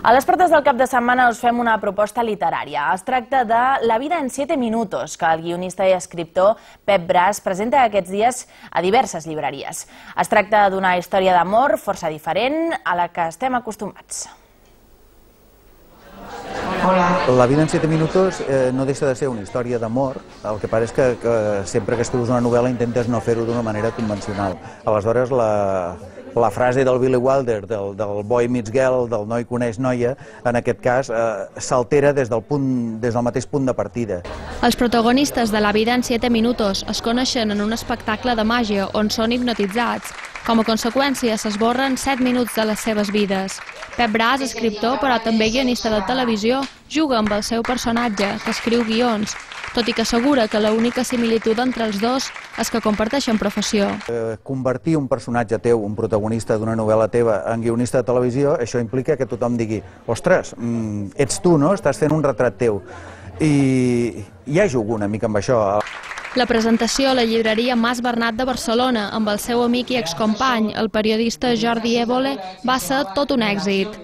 A les portes del cap de setmana us fem una proposta literària. Es tracta de La vida en 7 minutos, que el guionista i escriptor Pep Bras presenta aquests dies a diverses llibreries. Es tracta d'una història d'amor força diferent a la que estem acostumats. La vida en 7 minutos no deixa de ser una història d'amor, el que passa és que sempre que escrius una novel·la intentes no fer-ho d'una manera convencional. Aleshores, la frase del Billy Wilder, del boy meets girl, del noi coneix noia, en aquest cas s'altera des del mateix punt de partida. Els protagonistes de La vida en 7 minutos es coneixen en un espectacle de màgia on són hipnotitzats. Com a conseqüència, s'esborren 7 minuts de les seves vides. Pep Bras, escriptor però també guionista de televisió, juga amb el seu personatge, que escriu guions, tot i que assegura que l'única similitud entre els dos és que comparteixen professió. Convertir un personatge teu, un protagonista d'una novel·la teva, en guionista de televisió, això implica que tothom digui «Ostres, ets tu, no? Estàs fent un retrat teu». I ja jugo una mica amb això. La presentació a la llibreria Mas Bernat de Barcelona amb el seu amic i excompany, el periodista Jordi Évole, va ser tot un èxit.